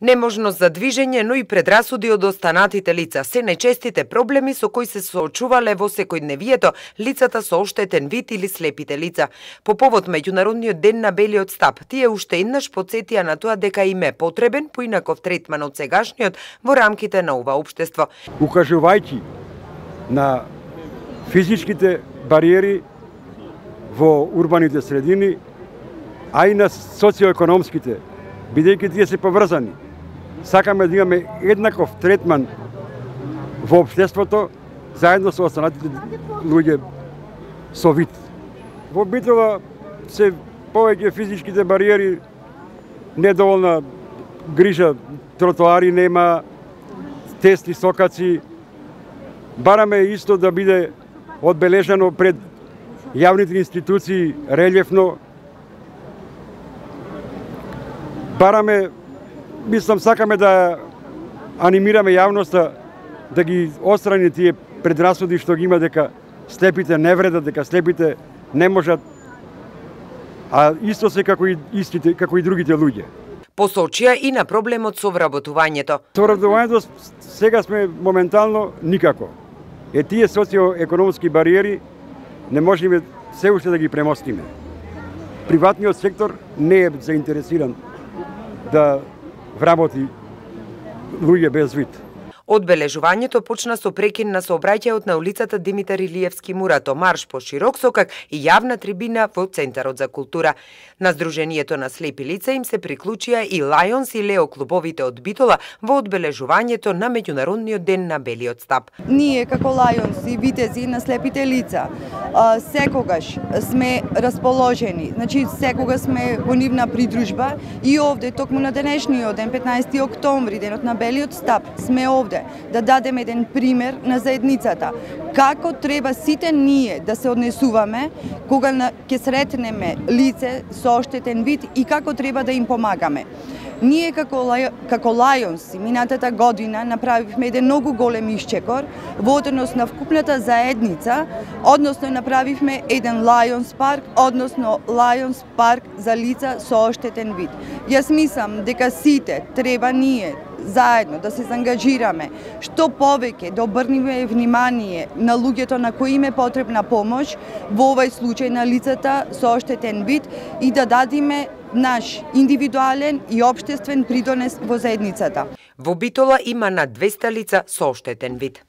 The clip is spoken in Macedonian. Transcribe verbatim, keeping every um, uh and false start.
Неможност за движење, но и предрасуди од останатите лица се најчестите проблеми со кои се соочувале во секојдневието лицата со оштетен вид или слепите лица. По повод меѓународниот ден на белиот стап, тие уште еднаш потсетија на тоа дека им е потребен поинаков третман од сегашниот во рамките на ова општество. Укажувајќи на физичките бариери во урбаните средини, а и на социоекономските, бидејќи тие се поврзани. Сакаме да имаме еднаков третман во општеството, заедно со останатите луѓе со вид. Во Битола се повеќе физичките бариери, недоволна грижа, тротоари нема, тесни сокаци. Бараме исто да биде одбележано пред јавните институции релјефно. Бараме, мислам, сакаме да анимираме јавноста да ги отстрани тие предрасуди што ги има дека слепите не вредат, дека слепите не можат, а исто се како и истите, како и другите луѓе. Посочија и на проблемот со вработувањето. Со вработувањето сега сме моментално никако. Е тие социоекономски бариери не можеме се уште да ги премостиме. Приватниот сектор не е заинтересиран да вработи луѓе без вид. Одбележувањето почна со прекин на сообраќајот на улицата Димитар Илиевски Мурато, марш по широк сокак и јавна трибина во Центарот за култура. На Сдруженијето на слепи лица им се приклучија и Лајонс и Лео клубовите од Битола во одбележувањето на меѓународниот ден на белиот стап. Ние како Лајонс и витези на слепите лица секогаш сме расположени, значи секогаш сме во нивна придружба и овде токму на денешниот ден, петнаесети октомври, денот на белиот стап, сме овде да дадеме еден пример на заедницата. Како треба сите ние да се однесуваме кога ќе сретнеме лице со оштетен вид и како треба да им помагаме. Ние како, како Лајонс минатата година направивме еден многу голем исчекор во однос на вкупната заедница, односно направивме еден Лајонс парк, односно Лајонс парк за лица со оштетен вид. Јас мислам дека сите треба ние заедно да се заангажираме што повеќе да обрнеме внимание на луѓето на кои им е потребна помош, во овој случај на лицата со оштетен вид, и да дадиме наш индивидуален и општествен придонес во заедницата. Во Битола има над двесте лица со оштетен вид.